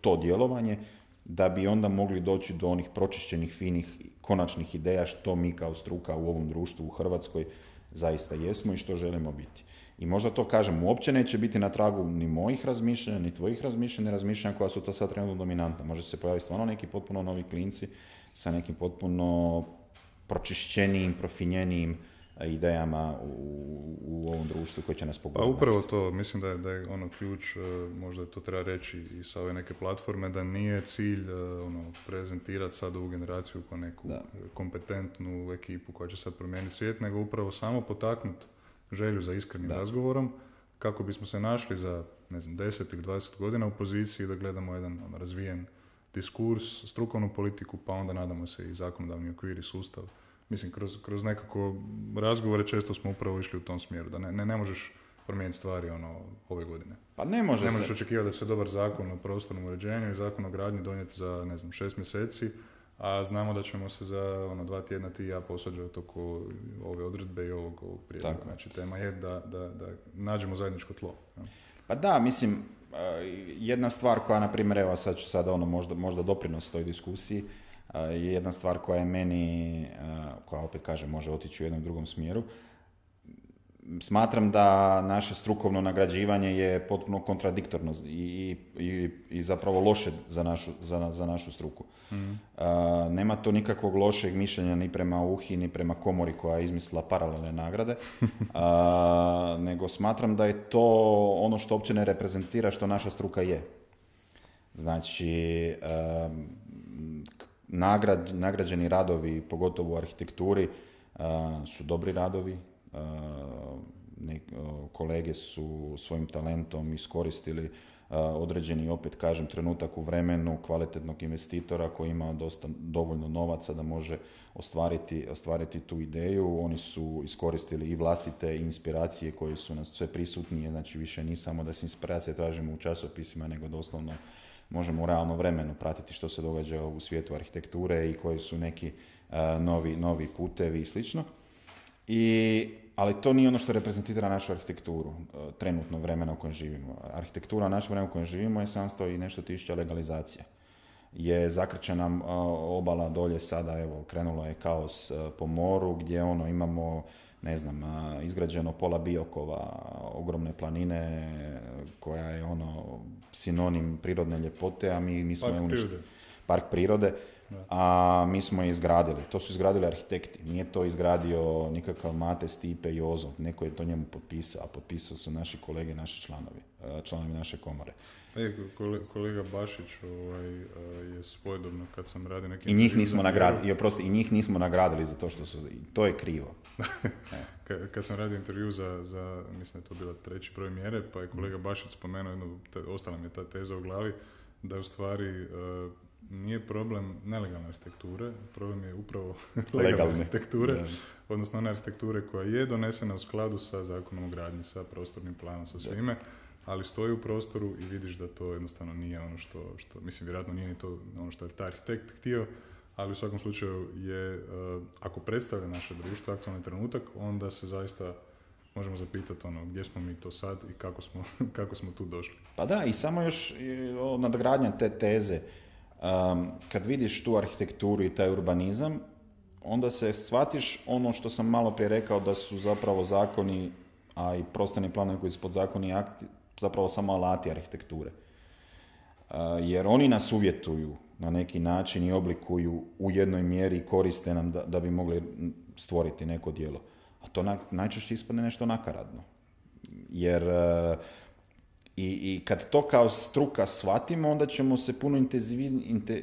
to djelovanje da bi onda mogli doći do onih pročišćenih, finih, konačnih ideja što mi kao struka u ovom društvu u Hrvatskoj zaista jesmo i što želimo biti. I možda to, kažem, uopće neće biti na tragu ni mojih razmišljanja, ni tvojih razmišljanja koja su to sad trenutno dominantna. Može se pojaviti stvarno neki potpuno novi klinci sa nekim potpuno pročišćenijim, profinjenijim idejama u ovom društvu koji će nas pogledati. A upravo to, mislim da je ključ, možda to treba reći i sa ove neke platforme, da nije cilj prezentirati sad ovu generaciju kao neku kompetentnu ekipu koja će sad promijeniti svijet, nego upravo samo potaknuti želju za iskrenim razgovorom, kako bismo se našli za 10 ili 20 godina u poziciji da gledamo jedan razvijen diskurs, strukovnu politiku, pa onda nadamo se i zakonodavni okvir i sustav. Mislim, kroz nekako razgovore često smo upravo išli u tom smjeru, da ne možeš promijeniti stvari ove godine. Pa ne možeš očekivati da će se dobar zakon o prostornom uređenju i zakon o gradnji donijeti za 6 mjeseci, a znamo da ćemo se za 2 tjedna ti i ja posvađati oko ove odredbe i ovog prijedloga. Znači, tema je da nađemo zajedničko tlo. Ja. Pa da, mislim, jedna stvar koja, na primjer, evo sad ću sada možda doprinos toj diskusiji, je jedna stvar koja je meni, koja opet kažem može otići u jednom drugom smjeru. Smatram da naše strukovno nagrađivanje je potpuno kontradiktorno i zapravo loše za našu struku. Nema to nikakvog lošeg mišljenja ni prema UHI, ni prema komori koja je izmislila paralelne nagrade, nego smatram da je to ono što uopće ne reprezentira što naša struka je. Znači, nagrađeni radovi, pogotovo u arhitekturi, su dobri radovi. Kolege su svojim talentom iskoristili određeni, opet kažem, trenutak u vremenu kvalitetnog investitora koji ima dovoljno novaca da može ostvariti tu ideju. Oni su iskoristili i vlastite inspiracije koje su nas sve prisutnije, znači više ni samo da se inspiracije tražimo u časopisima, nego doslovno možemo u realnom vremenu pratiti što se događa u svijetu arhitekture i koji su neki novi putevi i slično. Ali to nije ono što reprezentira našu arhitekturu, trenutno vremena u kojem živimo. Arhitektura u našem vremenu u kojem živimo je 700 i nešto tisuća legalizacija. Je zakrčena obala dolje sada, evo, krenulo je kaos po moru gdje imamo, izgrađeno pola Biokova, ogromne planine koja je sinonim prirodne ljepote, a mi smo je uništili. Park prirode. A mi smo je izgradili. To su izgradili arhitekti. Nije to izgradio nikakav Mate, Stipe i Ozo. Neko je to njemu potpisao, a potpisao su naši kolege, naši članovi naše komore. Kolega Bašić je svojedobno kad sam radio neki... I njih nismo nagradili, i njih nismo nagradili za to što su... To je krivo. Kad sam radio intervju za, mislim da je to bila 3. broj mjere, pa je kolega Bašić spomenuo, ostala mi je ta teza u glavi, da je u stvari... nije problem nelegalne arhitekture, problem je upravo legalne arhitekture, odnosno one arhitekture koja je donesena u skladu sa zakonom o gradnji, sa prostornim planom, sa svime, ali stoji u prostoru i vidiš da to jednostavno nije ono što mislim, vjerojatno nije ni to ono što je taj arhitekt htio, ali u svakom slučaju je, ako predstavlja naše društvo, aktualni trenutak, onda se zaista možemo zapitati gdje smo mi to sad i kako smo tu došli. Pa da, i samo još nadgradnja te teze. Kad vidiš tu arhitekturu i taj urbanizam, onda se shvatiš ono što sam malo prije rekao, da su zapravo zakoni, a i prostorni planovi koji su podzakoni akti, zapravo samo alati arhitekture. Jer oni nas uvjetuju na neki način i oblikuju u jednoj mjeri i koriste nam da bi mogli stvoriti neko djelo. A to najčešće ispadne nešto nakaradno. Jer i kad to kao struka shvatimo, onda ćemo se puno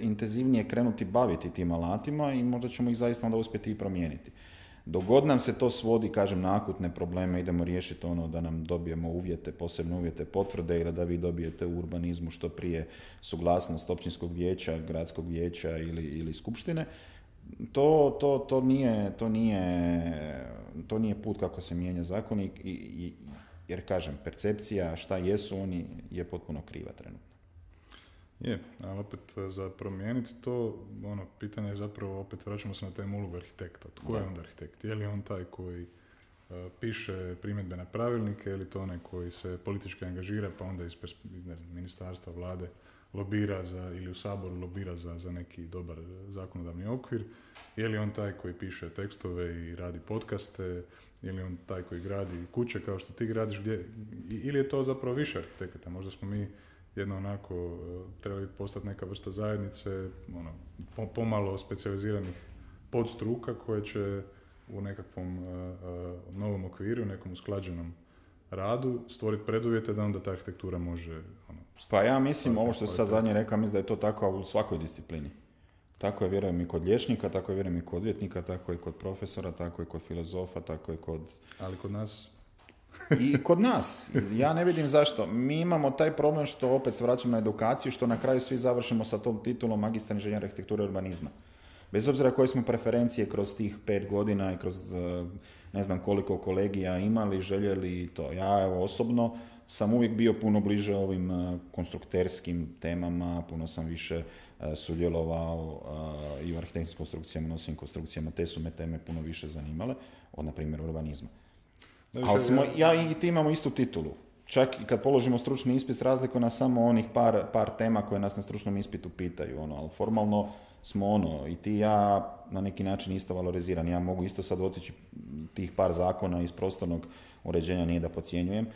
intenzivnije krenuti baviti tim alatima i možda ćemo ih zaista onda uspjeti i promijeniti. Dok god nam se to svodi, kažem, na akutne probleme, idemo riješiti ono da nam dobijemo uvjete, posebne uvjete potvrde ili da vi dobijete u urbanizmu što prije suglasnost općinskog vijeća, gradskog vijeća ili skupštine, to nije put kako se mijenja zakon jer kažem, percepcija šta jesu oni je potpuno kriva trenutno. Je, ali opet za promijeniti to, pitanje je zapravo, opet vraćamo se na temu ulogu arhitekta. Tko je onda arhitekt? Je li on taj koji piše primjedbe na pravilnike ili to onaj koji se politički angažira pa onda iz ministarstva, vlade lobira ili u Saboru lobira za neki dobar zakonodavni okvir? Je li on taj koji piše tekstove i radi podcaste? Ili on taj koji gradi kuće kao što ti gradiš? Ili je to zapravo više arhitekata? Možda smo mi jedno onako trebali postati neka vrsta zajednice, pomalo specijaliziranih podstruka koje će u nekakvom novom okviru, nekom usklađenom radu stvoriti preduvjete da onda ta arhitektura može... Pa ja mislim, ovo što se sad zadnje rekao, mislim da je to tako u svakoj disciplini. Tako je, vjerujem, i kod liječnika, tako je, vjerujem, i kod odvjetnika, tako je i kod profesora, tako je kod filozofa, tako je kod... Ali kod nas... I kod nas. Ja ne vidim zašto. Mi imamo taj problem što opet se vraćamo na edukaciju, što na kraju svi završimo sa tom titulom magistar inženjer arhitekture i urbanizma. Bez obzira koje smo preferencije kroz tih 5 godina i kroz ne znam koliko kolegija imali, željeli to. Ja evo osobno sam uvijek bio puno bliže ovim konstrukterskim temama, puno sam više sudjelovao i u arhitektonskim konstrukcijama, nosnim konstrukcijama, te su me teme puno više zanimale od, na primjer, urbanizma. Ali ja i ti imamo istu titulu. Čak i kad položimo stručni ispit, razlikuje nas samo onih par tema koje nas na stručnom ispitu pitaju, ali formalno smo i ti i ja na neki način isto valorizirani. Ja mogu isto sad otići tih par zakona iz prostornog uređenja, nije da podcjenjujem,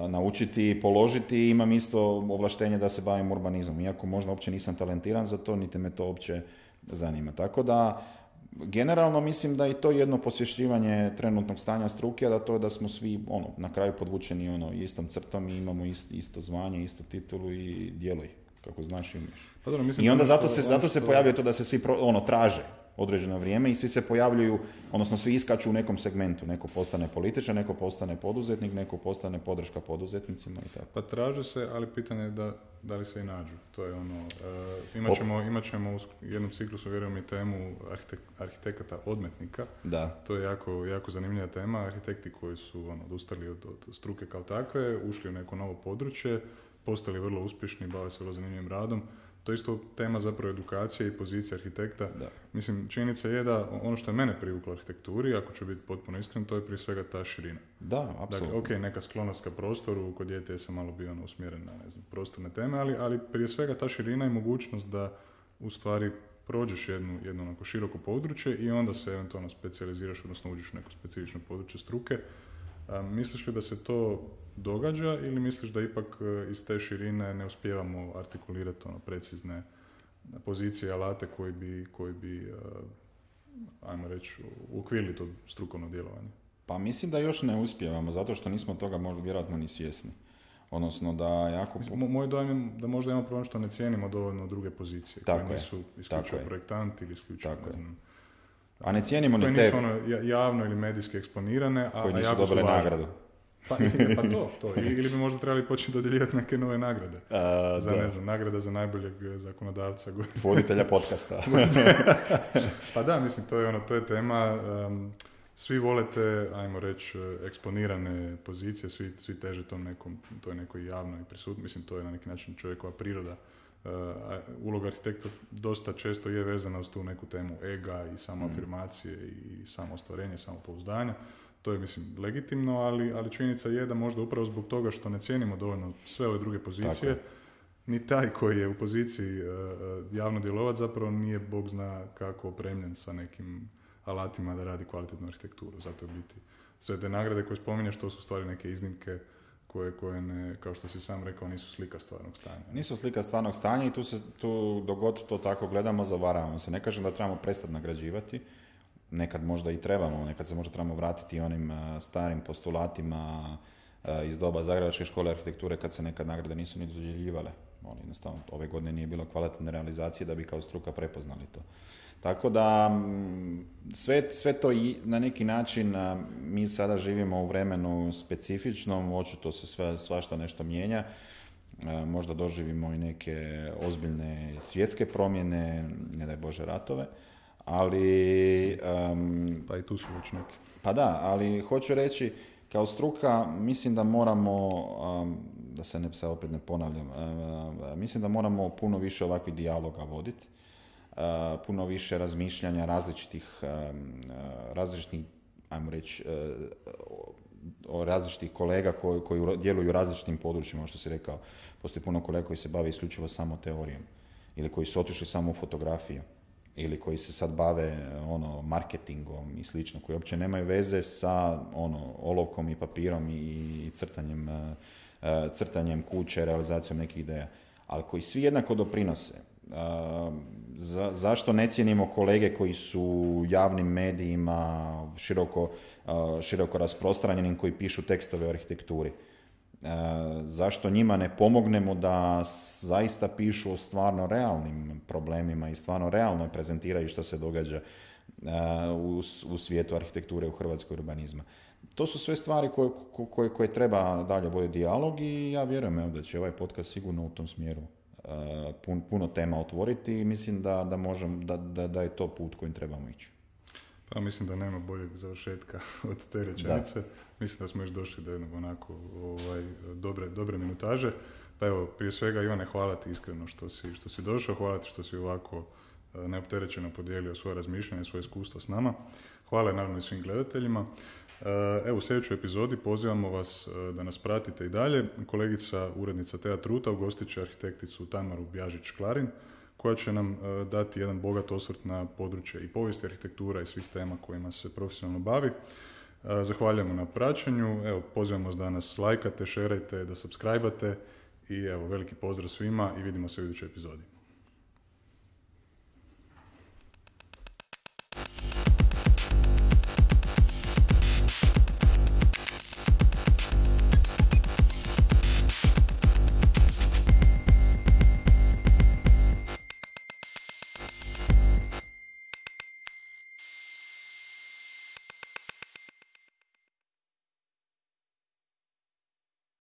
naučiti i položiti, imam isto ovlaštenje da se bavim urbanizmom, iako možda uopće nisam talentiran za to, niti me to uopće zanima. Tako da, generalno mislim da i to jedno posvješćivanje trenutnog stanja struke, a da smo svi na kraju podvučeni istom crtom i imamo isto zvanje, istu titulu i djeluj kako znaš i umiješ. Pa dobro, mislim i onda zato se pojavljuje to da se svi traže određeno vrijeme i svi se pojavljuju, odnosno svi iskaču u nekom segmentu. Neko postane političar, neko postane poduzetnik, neko postane podrška poduzetnicima i tako. Pa traže se, ali pitanje je da li se i nađu. To je imat ćemo u jednom ciklusu, vjerujem, i temu arhitekata odmetnika. Da. To je jako zanimljiva tema. Arhitekti koji su odustali od struke kao takve, ušli u neko novo područje, postali vrlo uspješni, bave se vrlo zanimljivim radom. To je isto tema zapravo edukacije i pozicije arhitekta. Da. Mislim, činjenica je da ono što je mene privuklo arhitekturi, ako ću biti potpuno iskren, to je prije svega ta širina. Da, apsolutno. Dakle, neka sklonost ka prostoru, kod dijete sam malo bio usmjeren na prostorne teme, ali prije svega ta širina i mogućnost da u stvari prođeš jedno onako široko područje i onda se eventualno specijaliziraš, odnosno uđeš u neko specifično područje struke. Misliš li da se to događa ili misliš da ipak iz te širine ne uspijevamo artikulirati precizne pozicije, alate koji bi ajmo reći, uokvirili to strukovno djelovanje? Pa mislim da još ne uspijevamo, zato što nismo toga možda vjerojatno ni svjesni. Odnosno da jako... Moj dojam je da možda imamo problem što ne cijenimo dovoljno druge pozicije, koje nisu isključivo projektanti ili isključivo, ne znam... A ne cijenimo ni te... Koje nisu javno ili medijski eksponirane, a koji nisu jako dobile nagradu. Pa to. Ili bi možda trebali početi dodjeljivati neke nove nagrade. Nagrada za najboljeg zakonodavca. Voditelja podcasta. Pa da, mislim, to je tema. Svi volite, ajmo reći, eksponirane pozicije, svi teže toj nekoj javnoj prisutnosti. Mislim, to je na neki način čovjekova priroda. Uloga arhitekta dosta često je vezana uz tu neku temu ega i samoafirmacije i samoostvarenje, samopouzdanja. To je, mislim, legitimno, ali činjenica je da možda upravo zbog toga što ne cijenimo dovoljno sve ove druge pozicije, ni taj koji je u poziciji javno djelovati zapravo nije Bog zna kako opremljen sa nekim alatima da radi kvalitetnu arhitekturu. Zato biti sve te nagrade koje spominješ, to su stvari neke iznimke koje ne, kao što si sam rekao, nisu slika stvarnog stanja. Nisu slika stvarnog stanja i tu dogod to tako gledamo, zavaravamo se. Ne kažem da trebamo prestati nagrađivati, nekad možda i trebamo, nekad se možda trebamo vratiti onim starim postulatima iz doba Zagrebačke škole arhitekture kad se nekad nagrade nisu ni dodjeljivale. Jednostavno, ove godine nije bilo kvalitetne realizacije da bi kao struka prepoznali to. Tako da sve to i na neki način mi sada živimo u vremenu specifičnom, očito se svašta nešto mijenja, možda doživimo i neke ozbiljne svjetske promjene, ne daj Bože ratove, ali... Pa i tu su već neki. Pa da, ali hoću reći, kao struka mislim da moramo, da se opet ne ponavljam, mislim da moramo puno više ovakvih dijaloga voditi, puno više razmišljanja različitih, ajmo reći, različitih kolega koji djeluju u različitim područjima, što si rekao. Postoji puno kolega koji se bave isključivo samo teorijom, ili koji su otišli samo u fotografiju, ili koji se sad bave marketingom i slično, koji uopće nemaju veze sa olovkom i papirom i crtanjem kuće, realizacijom nekih ideja, ali koji svi jednako doprinose. Zašto ne cijenimo kolege koji su u javnim medijima široko rasprostranjenim, koji pišu tekstove o arhitekturi? Zašto njima ne pomognemo da zaista pišu o stvarno realnim problemima i stvarno realno prezentiraju što se događa u svijetu arhitekture, u Hrvatskoj urbanizma? To su sve stvari koje treba dalje voditi dijalog i ja vjerujem da će ovaj podcast sigurno u tom smjeru puno tema otvoriti i mislim da je to put kojim trebamo ići. Pa mislim da nema boljeg završetka od te rečenice. Mislim da smo još došli do jednog onako dobre minutaže. Pa evo, prije svega Ivane, hvala ti iskreno što si došao, hvala ti što si ovako neopterećeno podijelio svoje razmišljanje, svoje iskustva s nama. Hvala naravno i svim gledateljima. Evo, u sljedećoj epizodi pozivamo vas da nas pratite i dalje. Kolegica, urednica Teja Truta, ugostit će arhitekticu Tamaru Bjažić-Klarin, koja će nam dati jedan bogat osvrt na područje i povijesti arhitektura i svih tema kojima se profesionalno bavi. Zahvaljujemo na praćenju, evo, pozivamo vas da nas lajkate, šerajte, da subscribe-ate i evo, veliki pozdrav svima i vidimo se u idućoj epizodi.